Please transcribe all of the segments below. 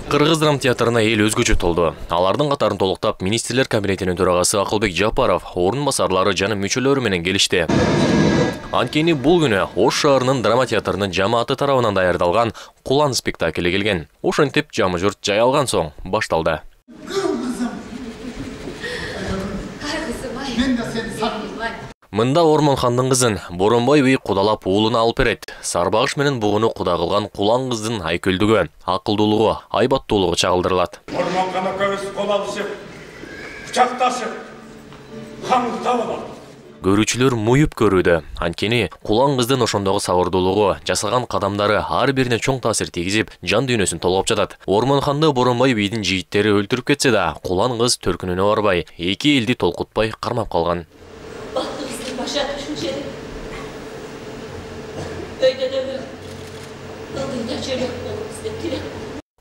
Кыргыз драма театрына эл өзгөчө толду. Алардын катарын толуктап министрлер кабинетинин төрагасы Акылбек Жапаров, орун басарлары жана мүчөлөрү менен келишти. Анткени бул күнү Ош шаарынын драма театрынын жамааты тарабынан даярдалган Кулан спектакли келген. Ошентип жамы журт жай алган соң башталды. Мында Ормонхандын кызын Боронбай бий кудалап уулуна алып берет. Сарбагыш менен бугуну куда кылган Кулан кыздын айкөлдүгү, акылдуулугу, айбаттуулугу чагылдырылат. Ормонхан экөөбүз кол алышып, кучакташып, хаңды табылат. Көрүүчүлөр муюп көрүүдө. Анткени Кулан кыздын ошондогу сабырдуулугу, жасаган кадамдары ар бирине чоң таасир тийгизип, жан дүйнөсүн толгоп жатат. Ормонханды Боронбай бийдин жигиттери өлтүрүп кетсе да, Кулан кыз төркүнүнө барбай, эки элди толкутпай кармап калган.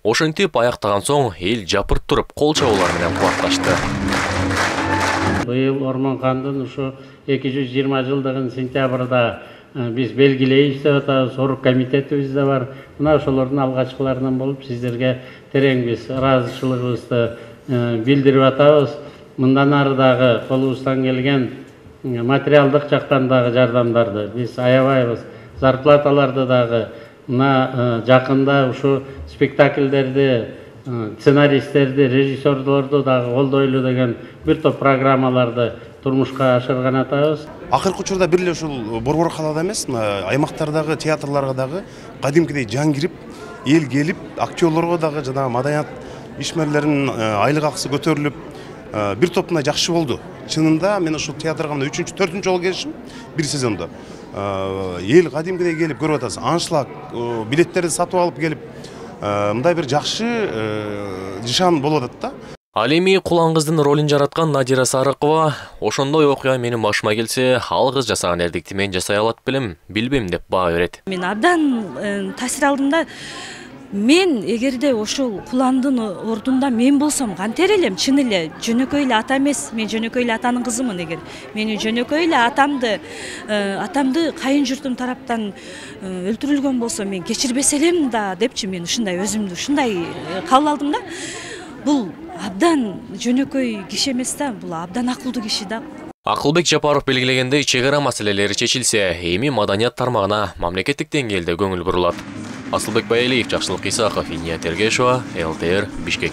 Ошентип аяктаган соң эл жапырт туруп кол чабуулар менен кубатташты. Быйыл Ормонхандын ушу 220 жылдыгын сентябрда биз белгилейбиз деп атабыз. Орук комитетибиз да бар. Мына ошолордун алгачкыларынан болуп сиздерге терең биз ыраазычылыгыбызды билдирип атабыз. Мындан ары дагы колубуздан келген материалдык жактан дагы жардамдарды биз аябайбыз. Зарплаталарды дагы мына жакында ушу спектакльдерди, сценаристтерди, режиссерлорду дагы колдойлу деген бир топ программаларды турмушка ашырган атабыз. Акыркы учурда бир эле ушул Борбор калаада эмес, аймактардагы театрларга дагы кадимкидей жан кирип, эл келип, актерлорго дагы жана маданият ишмерлеринин айлык акысы көтөрүлүп, бир топ мындай жакшы болду. Чынында мен ушул театрга 3-4 жолу келишим бир сезондо. Эл кадимкидей келип көрүп атасыз. Аншлаг билеттерди сатып алып келип, мындай бир жакшы жышан болуп атат да. Ал эми Кулан кыздын ролун жараткан Надира Сарыкова ошондой окуя менин башыма келсе, ал кыз жасаган эрдикти мен жасай алат белем, билбейм деп баа берет. Мен абдан таасир алдым да. Мен эгерде ошол Куландын ордунда мен болсом кантер элем, чын эле жөнөкөй эле ата эмес, мен жөнөкөй эле атанын кызымын. Эгер мени жөнөкөй эле атамды кайын журтум тараптан өлтүрүлгөн болсо мен кечирбес элем да депчи, мен ушундай өзүмдү ушундай кабыл алдым да. Бул абдан жөнөкөй киши эмес да, бул абдан акылдуу киши да. Акылбек Жапаров белгилегендей, чек ара маселелери чечилсе, эми маданият тармагына мамлекеттик деңгээлде көңүл бурулат. Асылбек Байалиев, Жакшылык Исаков, Иния Тергешова, ЛТР, Бишкек.